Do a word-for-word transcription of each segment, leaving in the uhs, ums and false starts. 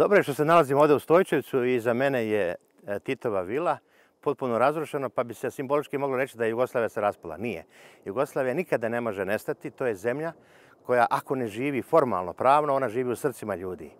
dobro je što se nalazimo ovdje u Stojčevcu i za mene je Titova vila potpuno razrušeno, pa bi se simbolički moglo reći da je Jugoslavija se raspala. Nije. Jugoslavija nikada ne može nestati, to je zemlja koja ako ne živi formalno, pravno, ona živi u srcima ljudi.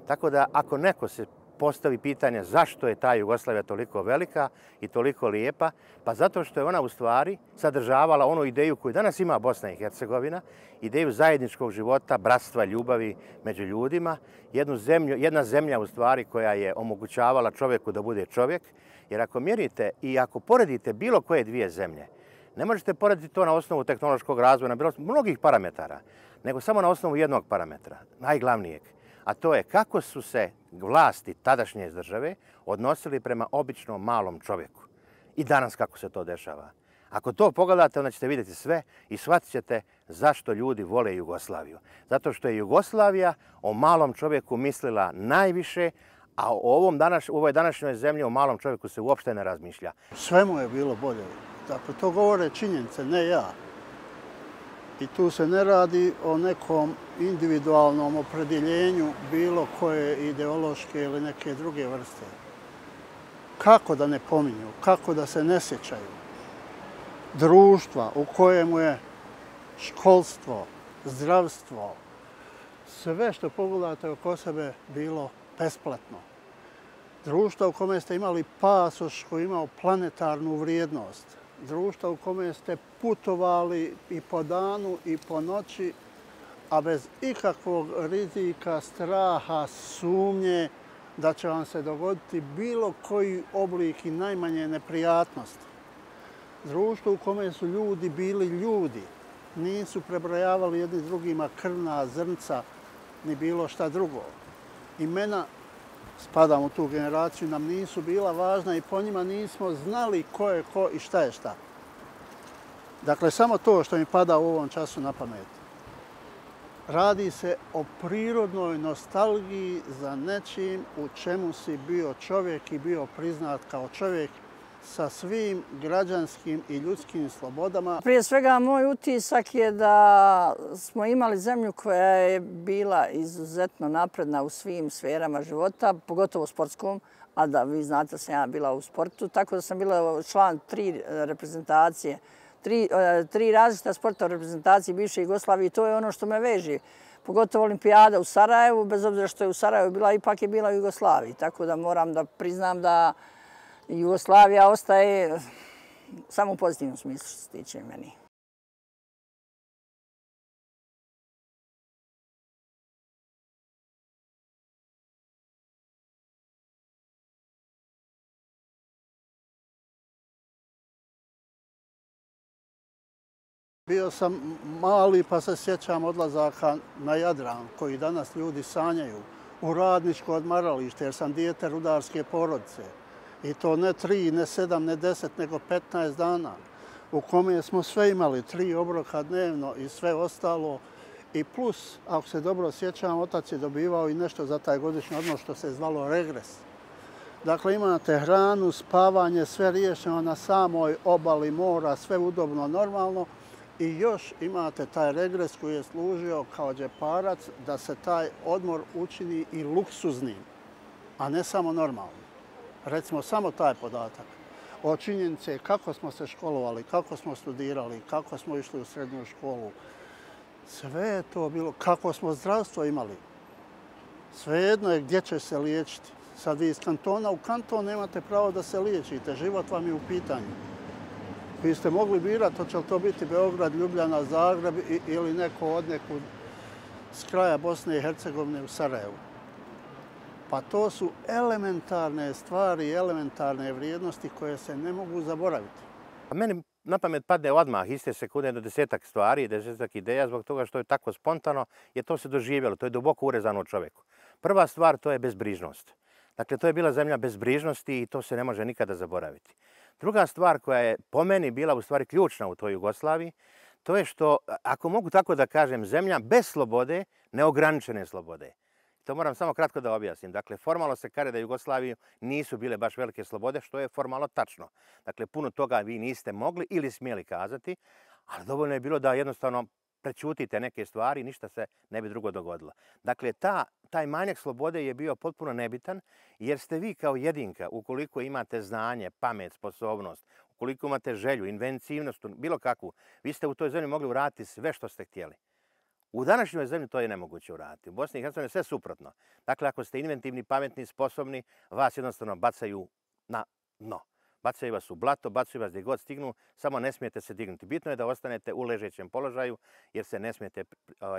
Tako da ako neko se postavi pitanje zašto je ta Jugoslavija toliko velika i toliko lijepa, pa zato što je ona u stvari sadržavala onu ideju koju danas ima Bosna i Hercegovina, ideju zajedničkog života, bratstva, ljubavi među ljudima, jednu zemlju, jedna zemlja u stvari koja je omogućavala čovjeku da bude čovjek, jer ako mjerite i ako poredite bilo koje dvije zemlje, ne možete porediti to na osnovu tehnološkog razvoja, na bilo mnogih parametara, nego samo na osnovu jednog parametra, najglavnijeg. A to je kako su se vlasti tadašnje države odnosili prema običnom malom čovjeku. I danas kako se to dešava. Ako to pogledate, onda ćete vidjeti sve i shvatit ćete zašto ljudi vole Jugoslaviju. Zato što je Jugoslavija o malom čovjeku mislila najviše, a o ovom danas, u ovoj današnjoj zemlji o malom čovjeku se uopšte ne razmišlja. Sve mu je bilo bolje. Dakle, to govore činjenice, ne ja. I tu se ne radi o nekom individualnom opredjeljenju bilo koje ideološke ili neke druge vrste. Kako da ne pominju, kako da se ne sjećaju društva u kojemu je školstvo, zdravstvo, sve što pogledate oko sebe bilo besplatno. Društva u kome ste imali pasoš koji je imao planetarnu vrijednost. Društva u kome ste putovali i po danu i po noći, a bez ikakvog rizika, straha, sumnje da će vam se dogoditi bilo koji oblik i najmanje neprijatnosti. Društvo u kome su ljudi bili ljudi, nisu prebrojavali jedni drugima krvna zrnca ni bilo šta drugo. Imena, spadam u tu generaciju, nam nisu bila važna i po njima nismo znali ko je ko i šta je šta. Dakle, samo to što mi pada u ovom času na pamet. Radi se o prirodnoj nostalgiji za nečim u čemu si bio čovjek i bio priznat kao čovjek sa svim građanskim i ljudskim slobodama. Prije svega, moj utisak je da smo imali zemlju koja je bila izuzetno napredna u svim sferama života, pogotovo u sportskom, a da vi znate da sam ja bila u sportu, tako da sam bila član tri reprezentacije, tri, tri različita sporta u reprezentaciji bivše Jugoslavije i to je ono što me veže. Pogotovo olimpijada u Sarajevu, bez obzira što je u Sarajevu bila, ipak je bila u Jugoslaviji, tako da moram da priznam da Jugoslavija ostaje samo u pozitivnom smislu što se tiče meni. Bio sam mali pa se sjećam odlazaka na Jadran koji danas ljudi sanjaju, u radničko odmaralište jer sam dijete rudarske porodice. I to ne tri, ne sedam, ne deset, nego petnaest dana u kome smo sve imali, tri obroka dnevno i sve ostalo. I plus, ako se dobro sjećam, otac je dobivao i nešto za taj godišnji odmor što se zvalo regres. Dakle, imate hranu, spavanje, sve riješeno na samoj obali mora, sve udobno, normalno. I još imate taj regres koji je služio kao džeparac da se taj odmor učini i luksuznim, a ne samo normalnim. Recimo samo taj podatak o činjenice kako smo se školovali, kako smo studirali, kako smo išli u srednju školu. Sve je to bilo, kako smo zdravstvo imali. Svejedno je gdje će se liječiti. Sad vi iz kantona u kanton nemate pravo da se liječite, život vam je u pitanju. Vi ste mogli birati, hoće li to biti Beograd, Ljubljana, Zagreb ili neko od nekud s kraja Bosne i Hercegovine u Sarajevu. Pa to su elementarne stvari, elementarne vrijednosti koje se ne mogu zaboraviti. Meni na pamet padne odmah iste sekunde do desetak stvari, desetak ideja, zbog toga što je tako spontano, je to se doživjelo, to je duboko urezano u čovjeku. Prva stvar, to je bezbrižnost. Dakle, to je bila zemlja bezbrižnosti i to se ne može nikada zaboraviti. Druga stvar koja je po meni bila u stvari ključna u toj Jugoslaviji, to je što, ako mogu tako da kažem, zemlja bez slobode, neograničene slobode. To moram samo kratko da objasnim. Dakle, formalno se kaže da Jugoslaviji nisu bile baš velike slobode, što je formalno tačno. Dakle, puno toga vi niste mogli ili smjeli kazati, ali dovoljno je bilo da jednostavno prećutite neke stvari, ništa se ne bi drugo dogodilo. Dakle, ta, taj manjak slobode je bio potpuno nebitan, jer ste vi kao jedinka, ukoliko imate znanje, pamet, sposobnost, ukoliko imate želju, inventivnost, bilo kakvu, vi ste u toj zemlji mogli uraditi sve što ste htjeli. U današnjoj zemlji to je nemoguće uraditi. U Bosni i Hercegovini je sve suprotno. Dakle, ako ste inventivni, pametni, sposobni, vas jednostavno bacaju na dno. Bacaju vas u blato, bacaju vas gdje god stignu, samo ne smijete se dignuti. Bitno je da ostanete u ležećem položaju, jer se ne smijete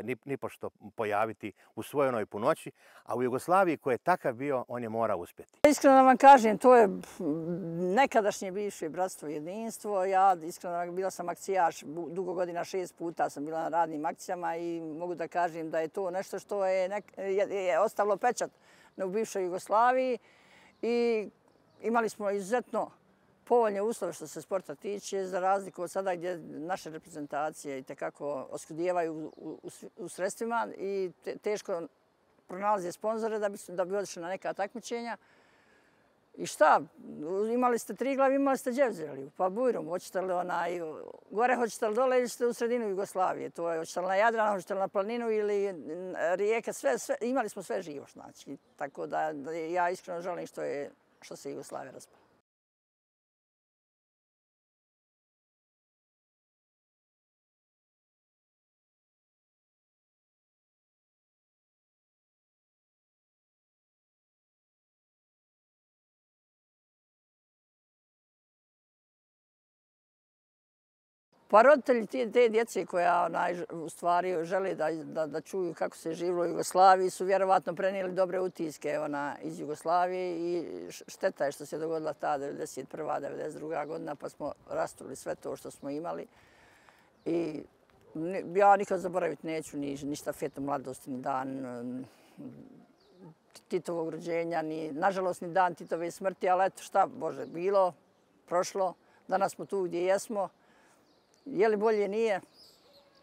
ni, ni pošto pojaviti u svojoj onoj punoći, a u Jugoslaviji koji je takav bio, on je mora uspjeti. Iskreno vam kažem, to je nekadašnje bivše bratstvo i jedinstvo. Ja iskreno bila sam akcijaš dugo godina, šest puta sam bila na radnim akcijama i mogu da kažem da je to nešto što je, nek, je, je ostavilo pečat u bivšoj Jugoslaviji i imali smo izuzetno povoljne uslove što se sporta tiče, za razliku od sada gdje naše reprezentacije i tekako oskudijevaju u, u, u sredstvima i te, teško pronalaze sponzore da bi, da bi odšli na neka takmičenja. I šta? Imali ste Triglav, imali ste Đevzeliju, pa Bujrum, hoćete li onaj, gore hoćete li dole ili ste u sredinu Jugoslavije, to je hoćete li na Jadranu, hoćete li na planinu ili rijeke, sve, sve, imali smo sve živo, znači. Tako da, da ja iskreno želim što, je, što se Jugoslavija raspala. Pa roditelji te, te djece koja onaj, u stvari žele da, da, da čuju kako se živilo u Jugoslaviji su vjerovatno prenijeli dobre utiske ona, iz Jugoslavije i šteta je što se dogodila ta devedeset prva devedeset druga godina pa smo rasturili sve to što smo imali. I ja nikad zaboraviti neću ni, ni štafetu mladosti, ni dan Titovog rođenja, ni, nažalost ni dan Titove smrti, ali eto šta, Bože, bilo, prošlo, danas smo tu gdje jesmo. Je li bolje, nije?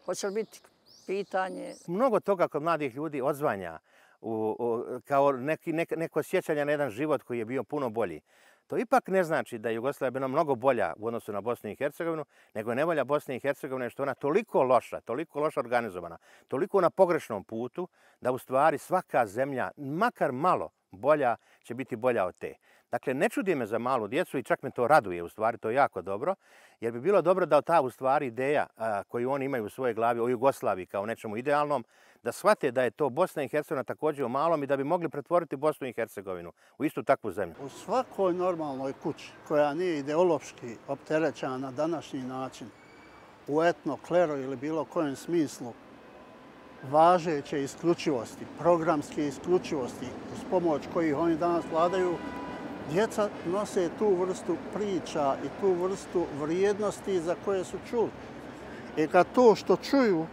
Hoće li biti pitanje? Mnogo toga kod mladih ljudi odzvanja u, u, kao neki, nek, neko sjećanje na jedan život koji je bio puno bolji. To ipak ne znači da je Jugoslavija bila mnogo bolja u odnosu na Bosnu i Hercegovinu, nego je nevolja Bosne i Hercegovine što je ona toliko loša, toliko loša organizovana, toliko na pogrešnom putu, da u stvari svaka zemlja, makar malo bolja, će biti bolja od te. Dakle, ne čudi me za malu djecu i čak me to raduje, u stvari to je jako dobro, jer bi bilo dobro da ta u stvari ideja a, koju oni imaju u svojoj glavi o Jugoslaviji kao nečemu idealnom, da shvate da je to Bosna i Hercegovina također u malom i da bi mogli pretvoriti Bosnu i Hercegovinu u istu takvu zemlju. U svakoj normalnoj kući koja nije ideološki opterećena na današnji način, u etno, klero ili bilo kojem smislu, važeće isključivosti, programske isključivosti, uz pomoć kojih oni danas vladaju, djeca nose tu vrstu priča i tu vrstu vrijednosti za koje su čuli. I kad to što čuju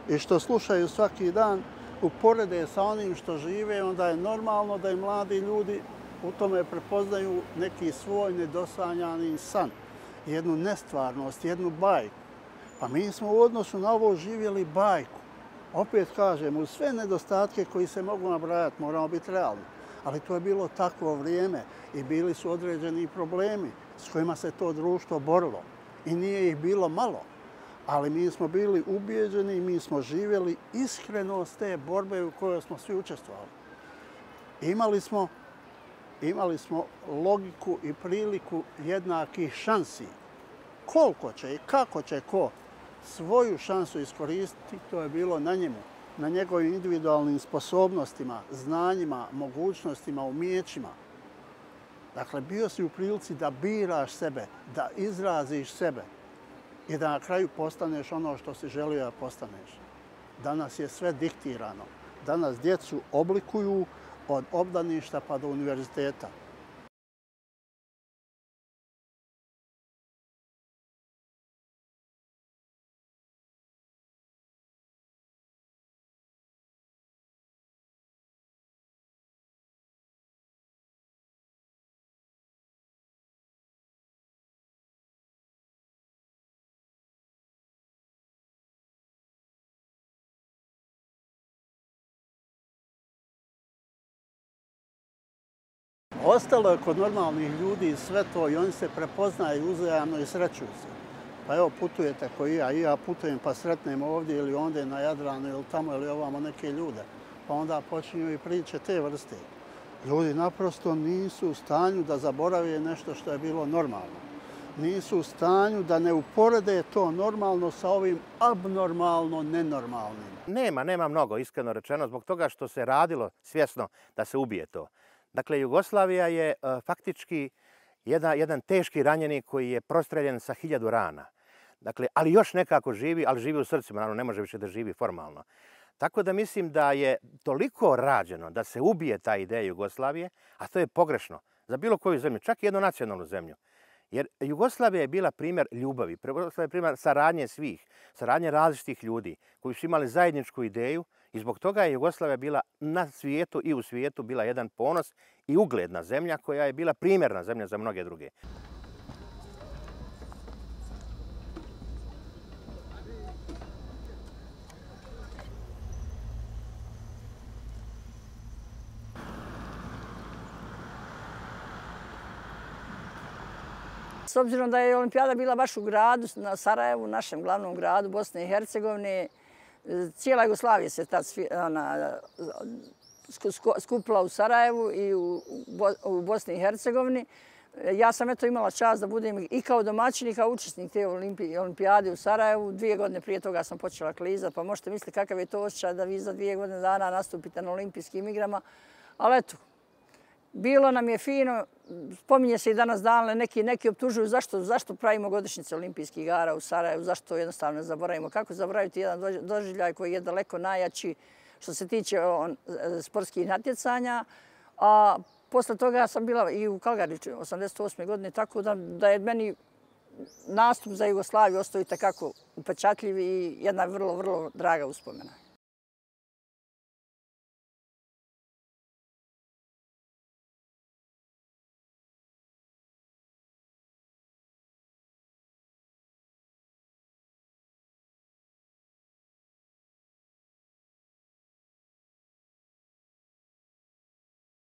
i što slušaju svaki dan uporede sa onim što žive, onda je normalno da i mladi ljudi u tome prepoznaju neki svoj nedosanjani san, jednu nestvarnost, jednu bajku. Pa mi smo u odnosu na ovo živjeli bajku. Opet kažem, uz sve nedostatke koji se mogu nabrajati, moramo biti realni. Ali to je bilo takvo vrijeme i bili su određeni problemi s kojima se to društvo borilo. I nije ih bilo malo. Ali mi smo bili ubijeđeni i mi smo živjeli iskrenost te borbe u kojoj smo svi učestvovali. Imali smo, imali smo logiku i priliku jednakih šansi. Koliko će i kako će ko svoju šansu iskoristiti, to je bilo na njemu, na njegovim individualnim sposobnostima, znanjima, mogućnostima, umijećima. Dakle, bio si u prilici da biraš sebe, da izraziš sebe i da na kraju postaneš ono što si želio da postaneš. Danas je sve diktirano. Danas djecu oblikuju od obdaništa pa do univerziteta. Ostalo je kod normalnih ljudi sve to i oni se prepoznaju uzajamno i srećuju se. Pa evo putujete koji ja, i ja putujem pa sretnem ovdje ili ondje na Jadranu ili tamo ili ovamo neke ljude. Pa onda počinju i priče te vrste. Ljudi naprosto nisu u stanju da zaborave nešto što je bilo normalno. Nisu u stanju da ne uporede to normalno sa ovim abnormalno nenormalnim. Nema, nema mnogo, iskreno rečeno, zbog toga što se radilo svjesno da se ubije to. Dakle, Jugoslavija je uh, faktički jedan, jedan teški ranjenik koji je prostreljen sa hiljadu rana. Dakle, ali još nekako živi, ali živi u srcima, naravno ne može više da živi formalno. Tako da mislim da je toliko rađeno da se ubije ta ideja Jugoslavije, a to je pogrešno za bilo koju zemlju, čak i jednu nacionalnu zemlju. Jer Jugoslavija je bila primjer ljubavi, Jugoslavija je primjer saradnje svih, saradnje različitih ljudi koji su imali zajedničku ideju i zbog toga je Jugoslavija bila na svijetu i u svijetu bila jedan ponos i ugledna zemlja koja je bila primjerna zemlja za mnoge druge. S obzirom da je olimpijada bila baš u gradu, na Sarajevu, našem glavnom gradu Bosne i Hercegovine, cijela Jugoslavija se tad ona, skupila u Sarajevu i u, u Bosni i Hercegovini. Ja sam eto imala čast da budem i kao domaćin i kao učesnik te olimpijade u Sarajevu. Dvije godine prije toga sam počela klizati, pa možete misliti kakav je to osjećaj da vi za dvije godine dana nastupite na olimpijskim igrama. Ali eto, bilo nam je fino, spominje se i danas dan, neki, neki optužuju zašto, zašto pravimo godišnjice olimpijskih igara u Sarajevu, zašto jednostavno ne zaboravimo. Kako zaboraviti jedan doživljaj koji je daleko najjači što se tiče on, sportskih natjecanja. A posle toga sam bila i u Kalgari osamdeset osme godine, tako da, da je meni nastup za Jugoslaviju ostao i takako upečatljiv i jedna vrlo, vrlo draga uspomena.